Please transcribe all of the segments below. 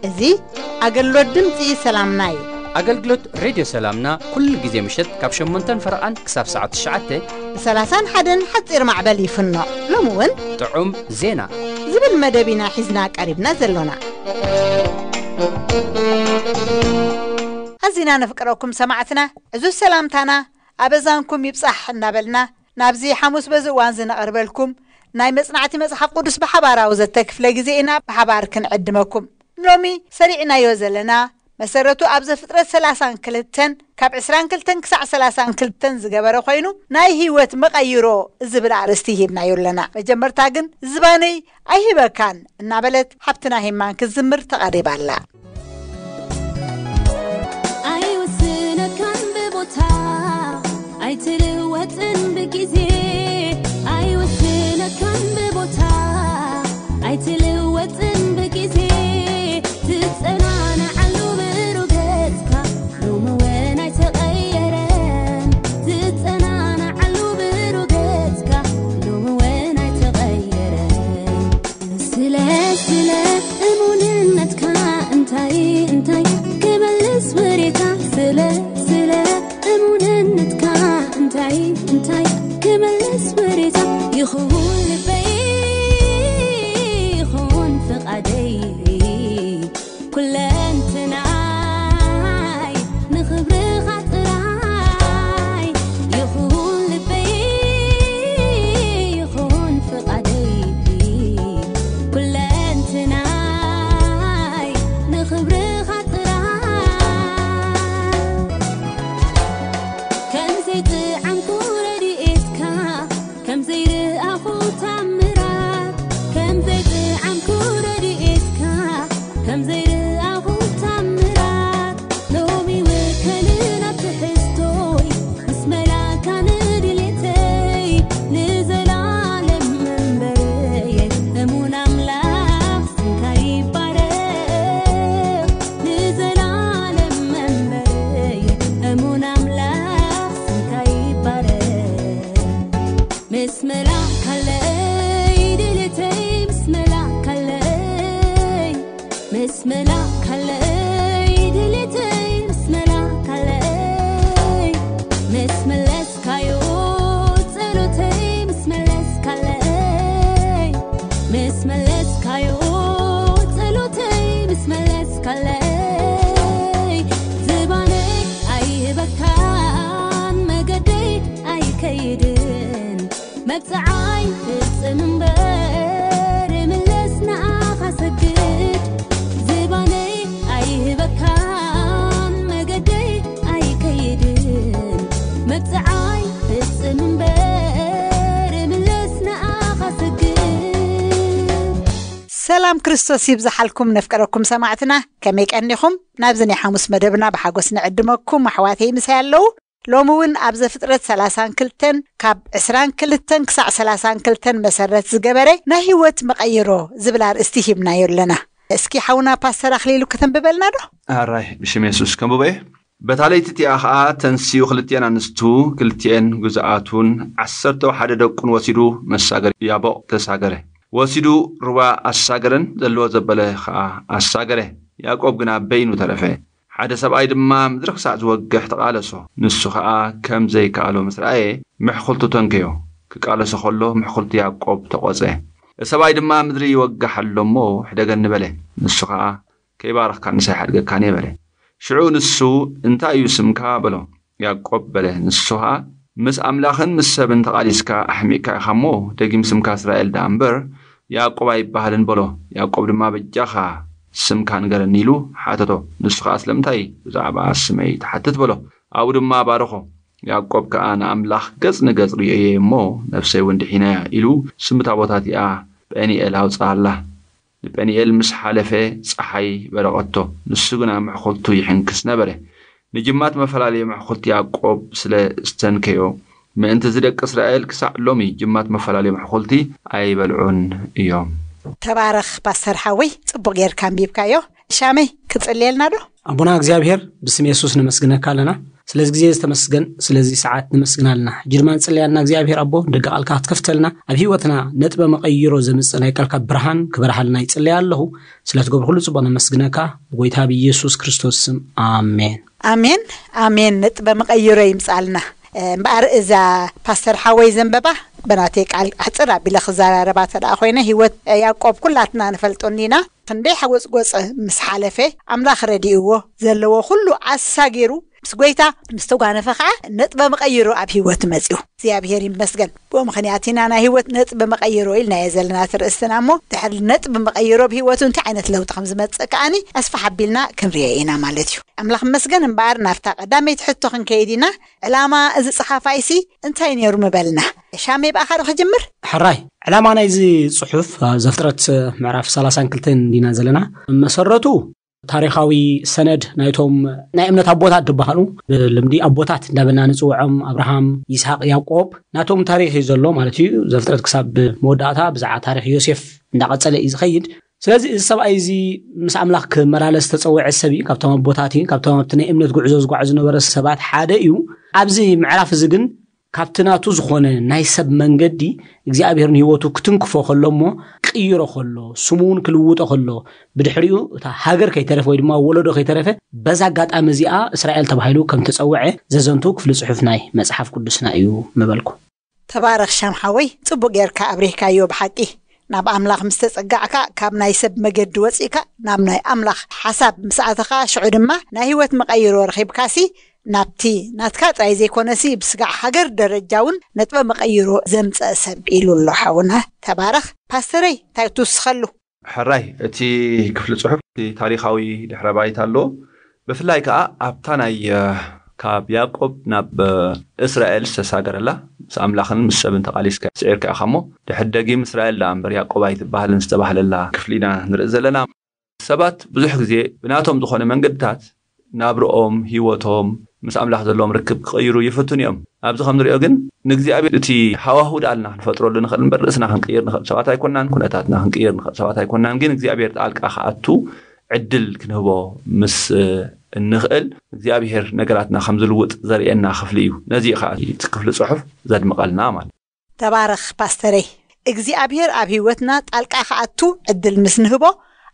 እዚ ኣገልግሎት ድምፂ ሰላምና እዩ። ኣገልግሎት ሬድዮ ሰላምና ኩሉ ግዜ ምሸት ካብ ሸሞንተን ፈረቓን ክሳብ ሰዓት ትሽዓተ ብ ሰላሳን ሓደን ሓፂር ማዕበል ይፍኖ። ሎሚ እውን ጥዑም ዜና ዝብል መደብ ኢና ሒዝና ቀሪብና ዘሎና። ኣዚና ነፍቅረኩም ሰማዕትና፣ ዕዙዝ ሰላምታና ኣበዛንኩም ይብጻሕ እናበልና፣ ናብዚ ሓሙስ በዚ እዋን እዚ ነቐርበልኩም ናይ መጽናዕቲ መጽሓፍ ቅዱስ ብሓባራዊ ዘተ ክፍለ ግዜ ኢና ብሓባር ክንዕድመኩም። ሎሚ ሰሪዕናዮ ዘለና መሰረቱ ኣብ ዘፍጥረት ሰላሳን ክልተን ካብ ዕስራን ክልተን ክሳዕ ሰላሳን ክልተን ዝገበረ ኮይኑ፣ ናይ ህይወት መቐይሮ ዝብል ኣርእስቲ ሂብናዮ ኣለና። መጀመርታ ግን ዝባነይ ኣይህበካን እናበለት ሓብትና ሄማን ክትዝምር ተቐሪባ ኣላ። ኣይውስነካን ብቦታ፣ ኣይትልወጥን ብግዜ። ኣይውስነካን ብቦታ፣ ኣይትልወጥን ብግዜ። ትጸናናዓሉ ብሩህ ገጽካ፣ ሎሚ እውን ኣይተቐየረን። ትጸናናዓሉ ብሩህ ገጽካ፣ ሎሚ እውን ኣይተቐየረን። ስለ፣ ስለ እሙንነትካ እንታይ፣ እንታይ ክመልስ ወሬታ? ስለ፣ ስለ እሙንነትካ እንታይ፣ እንታይ ክመልስ ወሬታ? ይኹን ልበይ፣ ይኹን ፍቓደይ፣ ኩለንትናይ ንኽብርኻ ጥራይ። ይኹን ልበይ፣ ይኹን ፍቓደይ፣ ኩለንትናይ ንኽብርኻ ጥራይ። ከም ዘይጥዓምኩ ረድኤትካ፣ ከም ዘይረኣኹ ታምራት፣ ከም ዘይጥዓምኩ ረድኤትካ፣ ከም ዘይረኣኹ ታምራት፣ ሎሚ ውከልን ኣብ ትሕዝቶይ፣ ምስ መላእካ ንድሌተይ፣ ንዘላለም መንበረየ፣ እሙን ኣምላኽ ስምካ ይባረኽ። ንዘላለም መንበረየ፣ እሙን ኣምላኽ ስምካ ይባረኽ። ምስ መላእካለይ ድሌተይ፣ ምስ መላእካለይ፣ ምስ መላእካለይ ድሌተይ፣ ምስ መላእካለይ፣ ምስ መለስካዮ ጸሎተይ፣ ምስ መለስካለይ፣ ምስ መለስካዮ ጸሎተይ፣ ምስ መለስካለይ፣ ዝባነይ ኣይህበካን፣ መገደይ ኣይከይድን። መብጽዓይ ፍጽም እምበር፣ ምለስ ንኣኻ ሰግድ። ዝባነይ ኣይህበካን፣ መገደይ ኣይከይድን። መብጽዓይ ፍጽም እምበር፣ ምለስ ንኣኻ ሰግድ። ሰላም ክርስቶስ ይብዝሓልኩም ነፍቀረኩም ሰማዕትና፣ ከመይ ቀኒኹም? ናብዚ ናይ ሓሙስ መደብና ብሓጎስ ንዕድመኩም። ኣሕዋተይ ምሳይ ኣለዉ። ሎሚ እውን ኣብ ዘፍጥረት ሰላሳን ክልተን ካብ ዕስራን ክልተን ክሳዕ ሰላሳን ክልተን መሰረት ዝገበረ ናይ ህይወት መቐይሮ ዝብል ኣርእስቲ ሂብናዮ ኣለና። እስኪ ሓውና ፓስተር ኣኽሊሉ ከተንብበልና ዶ? ኣራይ፣ ብሽም የሱስ ከንብቦ እየ። በታ ለይቲ እቲኣ ኸኣ ተንሲኡ ክልቲኤን ኣንስቱ ክልቲኤን ግዙኣቱን ዓሰርተ ሓደ ደቁን ወሲዱ መሳገር ያቦቕ ተሳገረ። ወሲዱ ሩባ ኣሳገረን ዘለዎ ዘበለ ኸኣ ኣሳገረ። ያዕቆብ ግና በይኑ ተረፈ። ሓደ ሰብኣይ ድማ ምድሪ ክሳዕ ዝወግሕ ተቓለሶ። ንሱ ኸኣ ከም ዘይከኣሎ ምስ ረኣየ፣ ምሕኹልቱ ተንከዮ። ክቃለሶ ኸሎ ምሕኹልቱ ያዕቆብ ተቖጸ። እቲ ሰብኣይ ድማ ምድሪ ይወግሕ ኣሎ እሞ፣ "ሕደገኒ" በለ። ንሱ ኸኣ፣ "ከይባረኽካ ንሳ ኣይሓድገካን እየ" በለ። ሽዑ ንሱ፣ "እንታይ እዩ ስምካ?" በሎ። "ያዕቆብ" በለ። ንሱ ኸኣ፣ "ምስ ኣምላኽን ምስ ሰብን ተቓሊስካ ኣሕሚቕካ ኢኻ እሞ፣ ደጊም ስምካ እስራኤል ደኣ እምበር፣ ያዕቆብ ኣይበሃልን" በሎ። ያዕቆብ ድማ፣ "በጃኻ ስምካ ንገረኒ" ኢሉ ሓተቶ። ንሱ ኸኣ፣ "ስለምንታይ ብዛዕባ ስመይ ትሓትት?" በሎ። ኣብኡ ድማ ባረኾ። ያዕቆብ ከኣ፣ "ንኣምላኽ ገጽ ንገጽ ርእየዮ እሞ፣ ነፍሰይ እውን ድሒናያ" ኢሉ ስም እታ ቦታ እቲኣ ጴኒኤል ኣውጽኣላ። ንጴኒኤል ምስ ሓለፈ፣ ጸሓይ በረቐቶ፣ ንሱ ግና ምሕኹልቱ ይሕንክስ ነበረ። ንጅማት መፈላለዮ ምሕኹልቲ ያዕቆብ ስለ ዝተንከዮ፣ ምእንቲ እዚ ደቂ እስራኤል ክሳዕ ሎሚ ጅማት መፈላለዮ ምሕኹልቲ ኣይበልዑን እዮም። ተባረኽ ፓስተር ሓወይ፣ ጽቡቕ ጌርካ ኣንቢብካዮ። ሻመይ ክጽልየልና ዶ? ኣቦና እግዚኣብሔር፣ ብስም የሱስ ነመስግነካ ኣለና። ስለዚ ግዜ ዝተመስገን፣ ስለዚ ሰዓት ነመስግን ኣለና። ሕጂ ድማ ንጽልያልና እግዚኣብሔር ኣቦ፣ ደገ ቃልካ ክትከፍተልና፣ ኣብ ህይወትና ነጥበ መቐይሮ ዘምጽእ ናይ ቃልካ ብርሃን ክበርሃልና ይጽልያ ኣለኹ። ስለ ትገብሮ ኩሉ ጽቡቕ ነመስግነካ፣ ብጎይታ ብኢየሱስ ክርስቶስ ስም፣ ኣሜን። ኣሜን። ኣሜን። ነጥበ መቐይሮ ይምጻልና። እምበኣር እዛ ፓስተር ሓወይ ዘንበባ፣ በናተይ ቃል ኣሕጽር ኣቢለ ክዘራረባ ተደኣ ኮይነ፣ ህይወት ያዕቆብ ኩላትና ንፈልጦ እንዲና። ክንደይ ሓጎጽጎጽ ምስ ሓለፈ፣ ኣምላኽ ረዲእዎ፣ ዘለዎ ኩሉ ኣሳጊሩ ምስ ጎይታ ምስ ተጓነፈ ኸዓ፣ ነጥበ መቐይሮ ኣብ ህይወት መጺኡ። እግዚኣብሔር ይመስገን። ብኡ ምኽንያት ኢና ናይ ህይወት ነጥበ መቐይሮ ኢልናዮ ዘለና እቲ ርእስትና እሞ፣ ድሕሪ ነጥበ መቐይሮ ኣብ ህይወቱ እንታይ ዓይነት ለውጢ ከም ዝመጽእ ከዓኒ ኣስፋሕ ኣቢልና ክንርእዮ ኢና ማለት እዩ። ኣምላኽ ይመስገን። እምበኣር ናብታ ቀዳመይቲ ሕቶ ክንከይድ ኢና። ዕላማ እዚ ጸሓፋይሲ እንታይ ነይሩ ምበልና? ሻሜ፣ ብኣኻ ዶ ክጅምር? ሕራይ፣ ዕላማ ናይዚ ጽሑፍ፣ ኣብ ዘፍጥረት ምዕራፍ ሰላሳን ክልተን እንዲና ዘለና፣ መሰረቱ ታሪኻዊ ሰነድ ናይቶም ናይ እምነት ኣቦታት ዝበሃሉ፣ ብልምዲ ኣቦታት እንዳበልና ንጽውዖም፣ ኣብርሃም፣ ይስሐቅ፣ ያዕቆብ፣ ናቶም ታሪኽ እዩ ዘሎ ማለት እዩ። ዘፍጥረት ክሳብ መወዳእታ ብዛዕባ ታሪኽ ዮሴፍ እንዳቐጸለ እዩ ዝኸይድ። ስለዚ እዚ ሰብኣይ እዚ ምስ ኣምላኽ ክመላለስ ዝተጸውዐ ሰብ እዩ። ካብቶም ኣቦታት እዩ። ካብቶም ኣብቲ ናይ እምነት ጉዕዞ ዝጓዓዙ ዝነበረ ሰባት ሓደ እዩ። ኣብዚ ምዕራፍ እዚ ግን ካብቲ ናቱ ዝኾነ ናይ ሰብ መንገዲ እግዚኣብሔር ንህይወቱ ክትንክፎ ከሎ እሞ ክቕይሮ ከሎ፣ ስሙ እውን ክልውጦ ከሎ፣ ብድሕሪኡ እታ ሃገር ከይተረፈ ወይ ድማ ወለዶ ከይተረፈ፣ በዛ ኣጋጣሚ እዚኣ እስራኤል ተባሂሉ ከም ተጸውዐ ዘዘንቱ ክፍሊ ጽሑፍ ናይ መጽሓፍ ቅዱስና እዩ ምበልኩ። ተባረኽ ሻም ሓወይ፣ ጽቡቕ ጌርካ ኣብሪህካዮ ብሓቂ። ናብ ኣምላኽ ምስ ተጸጋዕካ፣ ካብ ናይ ሰብ መገዲ ወጺእካ ናብ ናይ ኣምላኽ ሓሳብ ምስ ኣተኻ፣ ሽዑ ድማ ናይ ህይወት መቐይሮ ረኺብካሲ፣ ናብቲ ናትካ ጥራይ ዘይኮነሲ፣ ብስጋዕ ሃገር ደረጃ እውን ነጥበ መቐይሮ ዘምጸአ ሰብ ኢሉ ኣሎ ሓውና። ተባረኽ። ፓስተረይ፣ እንታይ ትውስኸሉ? ሕራይ፣ እቲ ክፍሊ ጽሑፍ እቲ ታሪኻዊ ድሕረ ባይታ ኣለዎ። ብፍላይ ከኣ ኣብታ ናይ፣ እ፣ ካብ ያዕቆብ ናብ፣ እ፣ እስራኤል ዝተሳገረላ፣ ምስ ኣምላኽን ምስ ሰብን ተቓሊስካ ስዒርካ ኢኻ እሞ፣ ድሕሪ ደጊም እስራኤል ደኣ እምበር ያዕቆብ ኣይትበሃልን ዝተባህለላ ክፍሊ ኢና ንርኢ ዘለና። ሰባት ብዙሕ ግዜ ብናቶም ዝኾነ መንገድታት ናብርኦም፣ ህይወቶም፣ ምስ ኣምላኽ ዘለዎም ርክብ ክቕይሩ ይፍትኑ እዮም። ኣብዚ ከም ንሪኦ ግን፣ ንእግዚኣብሔር እቲ ሃዋሁ ደኣልና ክንፈጥረሉ ንኽእል እምበር፣ ርእስና ክንቅይር ንኽእል ሰባት ኣይኮናን፣ ኩነታትና ክንቅይር ንኽእል ሰባት ኣይኮናን። ግን እግዚኣብሔር ጣልቃ ክኣቱ ዕድል ክንህቦ ምስ፣ እ፣ እንኽእል፣ እግዚኣብሔር ነገራትና ከም ዝልውጥ ዘርእየና ክፍሊ እዩ። ነዚ እዩ ከዓ እቲ ክፍሊ ጽሑፍ ዘድምቐልና ማለት። ተባረኽ ፓስተረይ። እግዚኣብሔር ኣብ ህይወትና ጣልቃ ክኣቱ ዕድል ምስ ንህቦ፣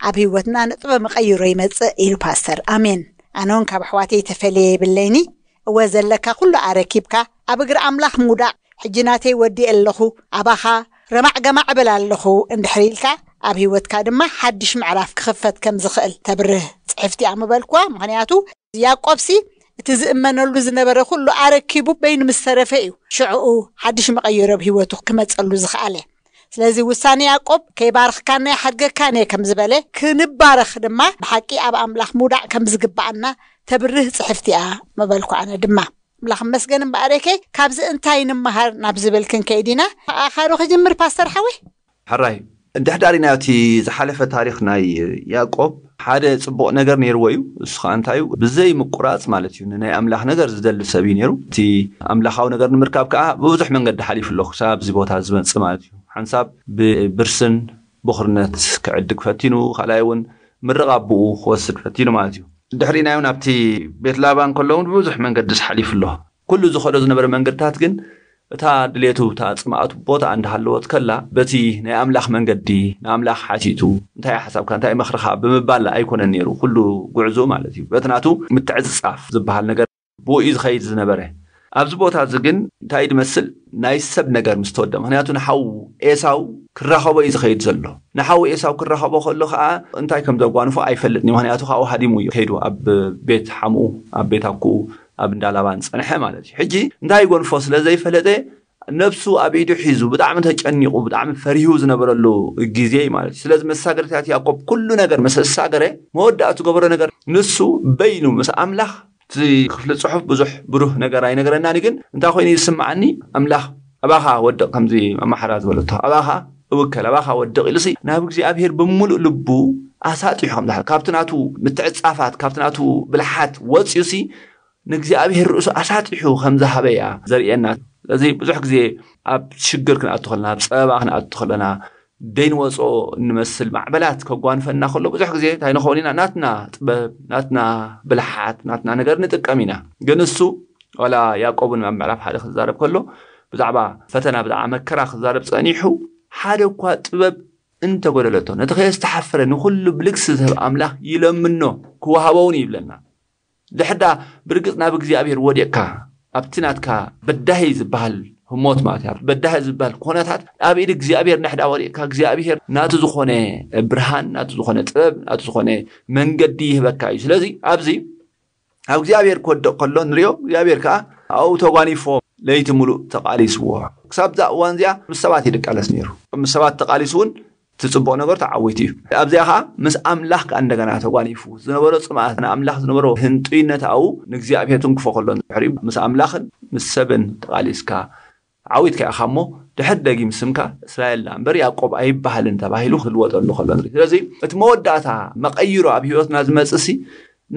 ኣብ ህይወትና ነጥበ መቐይሮ ይመጽእ ኢሉ ፓስተር። ኣሜን። ኣነ እውን ካብ ኣሕዋተይ ተፈልየ የብለይኒ። እወ፣ ዘለካ ኩሉ ኣረኪብካ፣ ኣብ እግሪ ኣምላኽ ምውዳቕ፣ ሕጂ ናተይ ወዲኤ ኣለኹ፣ ኣባኻ ረማዕ ገማዕ እብል ኣለኹ እንድሕር ኢልካ፣ ኣብ ህይወትካ ድማ ሓድሽ ምዕራፍ ክኽፈት ከም ዝኽእል ተብርህ ጽሕፍቲ እያ ምበልኩዋ። ምኽንያቱ ያዕቆብሲ እቲ ዝእመነሉ ዝነበረ ኩሉ ኣረኪቡ በይኑ ምስ ተረፈ እዩ ሽዕኡ ሓድሽ መቐየሪ ኣብ ህይወቱ ክመጸሉ ዝኸኣለ። ስለዚ ውሳኔ ያዕቆብ ከይባርኽካን ኣይሓድገካን እየ ከም ዝበለ፣ ክንባረኽ ድማ ብሓቂ ኣብ ኣምላኽ ምውዳቕ ከም ዝግብኣና ተብርህ ጽሕፍቲ እያ ምበልኩ። ኣነ ድማ ኣምላኽ መስገን እምበኣር፣ ኤኬ፣ ካብዚ እንታይ ንምሃር ናብ ዝብል ክንከይድ ኢና። ኣኻዶ ክጅምር ፓስተር ሓወይ? ሕራይ፣ እንድሕዳር ኢና እቲ ዝሓለፈ ታሪኽ ናይ ያዕቆብ፣ ሓደ ጽቡቕ ነገር ነይርዎ እዩ። እሱ ኸኣ እንታይ እዩ? ብዘይ ምቁራጽ ማለት እዩ፣ ንናይ ኣምላኽ ነገር ዝደሊ ሰብ እዩ ነይሩ። እቲ ኣምላኻዊ ነገር ንምርካብ ከኣ ብብዙሕ መንገዲ ሓሊፉ ኣሎ፣ ክሳብ እዚ ቦታ ዝመጽእ ማለት እዩ። ሓንሳብ ብብርስን ብኹርነት ክዕድግ ፈቲኑ፣ ካልኣይ እውን ምርቕ ኣቦኡ ክወስድ ፈቲኑ ማለት እዩ። ድሕሪናዮ ናብቲ ቤት ላባን ከሎ እውን ብብዙሕ መንገዲ ሓሊፉ ኣሎ። ኩሉ ዝኸዶ ዝነበረ መንገድታት ግን እታ ድሌቱ፣ እታ ጽምኣቱ ቦታ እንዳሃለወት ከላ፣ በቲ ናይ ኣምላኽ መንገዲ፣ ንኣምላኽ ሓቲቱ፣ "እንታይ ሓሳብካ፣ እንታይ መኽርኻ?" ብምባል ኣይኮነን ነይሩ፣ ኩሉ ጉዕዞ ማለት እዩ። በቲ ናቱ ምትዕጽጻፍ ዝበሃል ነገር ብኡ እዩ ዝኸይድ ዝነበረ። ኣብዚ ቦታ እዚ ግን እንታይ እዩ ዝመስል? ናይ ሰብ ነገር ምስ ተወደ፣ ምኽንያቱ ንሓዉ ኤሳው ክራኸቦ እዩ ዝኸይድ ዘሎ። ንሓዉ ኤሳው ክራኸቦ ከሎ ኸኣ እንታይ ከም ዘጓንፎ ኣይፈልጥን እዩ፣ ምኽንያቱ ካብኡ ሃዲሙ እዩ ከይዱ ኣብ ቤት ሓምኡ፣ ኣብ ቤት ኣኩኡ፣ ኣብ እንዳ ላባን ጸንሐ ማለት እዩ። ሕጂ እንታይ ይጎንፎ ስለ ዘይፈለጠ፣ ነብሱ ኣብ ኢዱ ሒዙ፣ ብጣዕሚ ተጨኒቑ፣ ብጣዕሚ ፈሪሁ ዝነበረሉ ግዜ እዩ ማለት እዩ። ስለዚ መሳገርታት ያዕቆብ ኩሉ ነገር ምስ ኣሳገረ፣ መወዳእቱ ዝገበሮ ነገር ንሱ በይኑ ምስ ኣምላኽ፣ እቲ ክፍሊ ጽሑፍ ብዙሕ ብሩህ ነገር ኣይነገረናን እዩ፣ ግን እንታይ ኮይኑ ይስምዓኒ፣ ኣምላኽ ኣባኻ ወድቕ፣ ከምዚ ኣማሓራ ዝበለቶ፣ ኣባኻ እውከል፣ ኣባኻ ወድቕ ኢሉሲ ናብ እግዚኣብሔር ብምሉእ ልቡ ኣሳጢሑ ከም ዝሓ-፣ ካብቲ ናቱ ምትዕጻፋት፣ ካብቲ ናቱ ብልሓት ወጽዩሲ ንእግዚኣብሔር ርእሱ ኣሳጢሑ ከም ዝሃበ እያ ዘርእየና። ስለዚ ብዙሕ ግዜ ኣብ ሽግር ክንኣቱ ከለና፣ ኣብ ጸበባ ክንኣቱ ከለና፣ ደይንወፅኦ እንመስል ማዕበላት ከጓንፈና ከሎ ብዙሕ ግዜ እንታይ ንኸውን ኢና? ናትና ጥበብ፣ ናትና ብልሓት፣ ናትና ነገር ንጥቀም ኢና። ግን እሱ ዋላ ያዕቆብን ኣብ ምዕራፍ ሓደ ክዛረብ ከሎ ብዛዕባ ፈተና፣ ብዛዕባ መከራ ክዛረብ ጸኒሑ፣ ሓደ እኳ ጥበብ እንተጎደለቶ፣ ነቲ ከየስተሓፈረ ንኹሉ ብልግሲ ዝህብ ኣምላኽ ይለምኖ፣ ክወሃቦ እውን ይብለና። ድሕዳ ብርግጽ ናብ እግዚኣብሔር ወዲቕካ፣ ኣብቲ ናትካ በዳሂ ዝበሃል ህሞት ማለት እዩ፣ በዳሂ ዝበሃል ኩነታት ኣብ ኢድ እግዚኣብሔር ንሕዳ ወዲቕካ፣ እግዚኣብሔር ናቱ ዝኾነ ብርሃን፣ ናቱ ዝኾነ ጥበብ፣ ናቱ ዝኾነ መንገዲ ይህበካ እዩ። ስለዚ ኣብዚ ኣብ እግዚኣብሔር ክወድቕ ከሎ ንሪኦ፣ እግዚኣብሔር ከዓ ኣብኡ ተጓኒፎ ለይቲ ሙሉእ ተቃሊስዎ። ክሳብ እዛ እዋን እዚኣ ምስ ሰባት እዩ ድቃለስ ነይሩ። ምስ ሰባት ተቃሊሱ እውን እቲ ጽቡቕ ነገር ተዓዊቱ እዩ። ኣብዚኣ ከዓ ምስ ኣምላኽ ከዓ እንደገና ተጓኒፉ ዝነበሮ ጽምኣት፣ ንኣምላኽ ዝነበሮ ህንጡይነት ኣብኡ ንእግዚኣብሔር ትንክፎ ከሎ ንድሕሪኡ ምስ ኣምላኽን ምስ ሰብን ተቃሊስካ ዓዊትካ ኢኻ እሞ ድሕር ደጊም ስምካ እስራኤል ደኣ እምበር ያዕቆብ ኣይበሃልን ተባሂሉ ክልወጠሉ ከሎ ንርኢ። ስለዚ እቲ መወዳእታ መቐይሮ ኣብ ህይወትና ዝመጽእ ሲ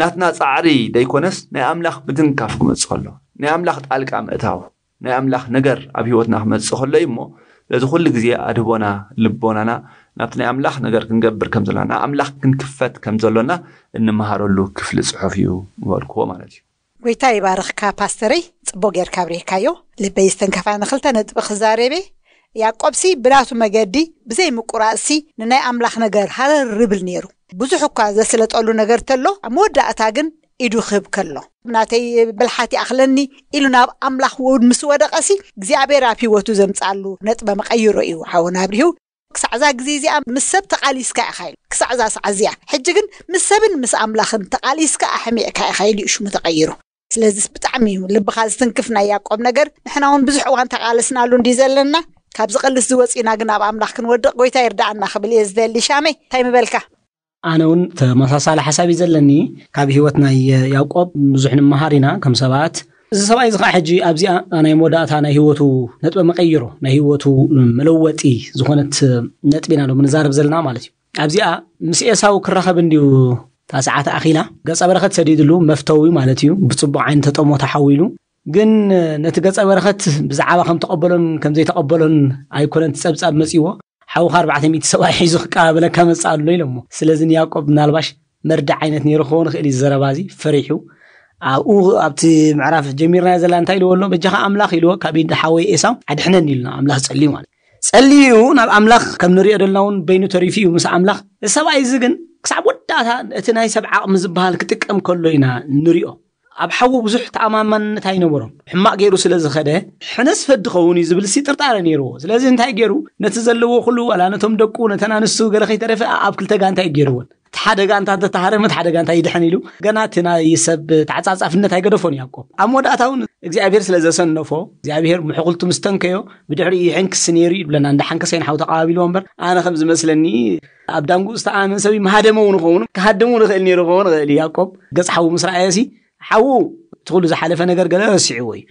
ናትና ጻዕሪ ደይኮነስ ናይ ኣምላኽ ምትንካፍ ክመጽእ ከሎ፣ ናይ ኣምላኽ ጣልቃ ምእታው፣ ናይ ኣምላኽ ነገር ኣብ ህይወትና ክመጽእ ከሎ እዩ እሞ ስለዚ ኩሉ ግዜ ኣድህቦና ልቦናና ናብቲ ናይ ኣምላኽ ነገር ክንገብር ከም ዘለና፣ ንኣምላኽ ክንክፈት ከም ዘሎና እንመሃረሉ ክፍሊ ጽሑፍ እዩ ምበልክዎ ማለት እዩ። ጎይታ ይባርኽካ ፓስተረይ፣ ጽቡቕ ጌርካ ኣብሪህካዮ። ልበይ ዝተንከፋ ንኽልተ ነጥቢ ክዛረብ እየ። ያዕቆብሲ ብናቱ መገዲ ብዘይ ምቁራጽሲ ንናይ ኣምላኽ ነገር ሃረር ይብል ነይሩ። ብዙሕ እኳ ዘስለጠሉ ነገር ተሎ፣ ኣብ መወዳእታ ግን ኢዱ ክህብ ከሎ፣ ናተይ ብልሓት ይኣኽለኒ ኢሉ ናብ ኣምላኽ ውድ ምስ ወደቐሲ እግዚኣብሔር ኣብ ህይወቱ ዘምጻሉ ነጥበ መቐይሮ እዩ ሓወና ኣብሪሁ። ክሳዕ እዛ ግዜ እዚኣ ምስ ሰብ ተቓሊስካ ኢኻ ኢሉ። ክሳዕ እዛ ሰዓት እዚኣ። ሕጂ ግን ምስ ሰብን ምስ ኣምላኽን ተቓሊስካ ኣሕሚቕካ ኢኻ ኢሉ እዩ ሽሙ ተቐይሩ። ስለዚስ ብጣዕሚ እዩ ልብኻ ዝትንክፍ ናይ ያዕቆብ ነገር። ንሕና እውን ብዙሕ እዋን ተቓለስናሉ እንዲ ዘለና። ካብ ዝቕልስ ዝወፂና ግን ኣብ ኣምላኽ ክንወድቕ ጎይታ ይርዳኣና ክብል እየ ዝደሊ። ሻመይ እንታይ ምበልካ? ኣነ እውን ተመሳሳሊ ሓሳብ እዩ ዘለኒ። ካብ ህይወት ናይ ያዕቆብ ብዙሕ ንምሃር ኢና ከም ሰባት። እዚ ሰብኣይ እዚ ከዓ ሕጂ ኣብዚኣ ናይ መወዳእታ ናይ ህይወቱ ነጥበ መቀይሮ ናይ ህይወቱ መለወጢ ዝኾነት ነጥቢ ኢና ሎም ንዛረብ ዘለና ማለት እዩ። ኣብዚኣ ምስ ኤሳው ክራኸብ እንድዩ እታ ሰዓት ኣኺላ ገጸ በረኸት ሰዲድሉ መፍተዊ ማለት እዩ። ብጽቡቕ ዓይኒ ተጠሞ ተሓዊሉ ግን ነቲ ገጸ በረኸት ብዛዕባ ከም ተቐበሎን ከም ዘይተቐበሎን ኣይኮነን እቲ ጸብጻብ መጺዎ። ሓውኻ ኣርባዕተ ሚእቲ ሰብኣይ ሒዙ ክቀባበለካ መጽእ ኣሎ ኢሎሞ። ስለዚ ንያዕቆብ ምናልባሽ መርዳእ ዓይነት ነይሩ ክኸውን ይኽእል እዩ ዘረባ እዚ ፈሪሑ። ኣብኡ ኣብቲ ምዕራፍ ጀሚርናዮ ዘለና እንታይ ኢልዎ ኣሎ? በጃኻ ኣምላኽ ኢልዎ ካብ ኢድ ሓወይ ኤሳው ኣድሕነኒ ኢሉ ናብ ኣምላኽ ጸልዩ ማለት እዩ። ጸልዩ ናብ ኣምላኽ ከም ንሪኦ ደለና እውን በይኑ ተሪፉ እዩ ምስ ኣምላኽ። እዚ ሰብኣይ እዚ ግን ክሳብ ወዳእታ እቲ ናይ ሰብ ዓቕሚ ዝበሃል ክጥቀም ከሎ ኢና ንሪኦ። ኣብ ሓዉ ብዙሕ ተኣማማንነት ኣይነበሮን። ሕማቕ ገይሩ ስለ ዝኸደ ሕነስ ፈዲ ኸውን እዩ ዝብል ሲ ጥርጣረ ነይርዎ። ስለዚ እንታይ ገይሩ? ነቲ ዘለዎ ኩሉ ዋላ ነቶም ደቁ ነተን ኣንስቱ ገለ ከይተረፈ ኣብ ክልተ ጋንታ እዩ ገይርዎን። እቲ ሓደ ጋንታ እንተተሃረመ እቲ ሓደ ጋንታ ይድሕን ኢሉ ገና እቲ ናይ ሰብ ተዓጻጻፍነት ኣይገደፎን ያዕቆብ። ኣብ መወዳእታ እውን እግዚኣብሔር ስለ ዘሰነፎ እግዚኣብሔር ምሕኩልቱ ምስ ተንከዮ ብድሕሪኡ ይሕንክስ ነይሩ ይብለና። እንዳ ሓንከሰ ኢና ሓው ተቓባቢልዎ እምበር ኣነ ከም ዝመስለኒ ኣብ ዳንጉ ዝተኣመን ሰብ መሃደመ እውን ኸውን ክሃድም እውን ይኽእል ነይሩ ክኸውን ይኽእል እዩ። ያዕቆብ ገጽ ሓዉ ምስ ረኣየ ሲ ሓዉ እቲ ኩሉ ዝሓለፈ ነገር ገለ ረሲዕዎ እዩ።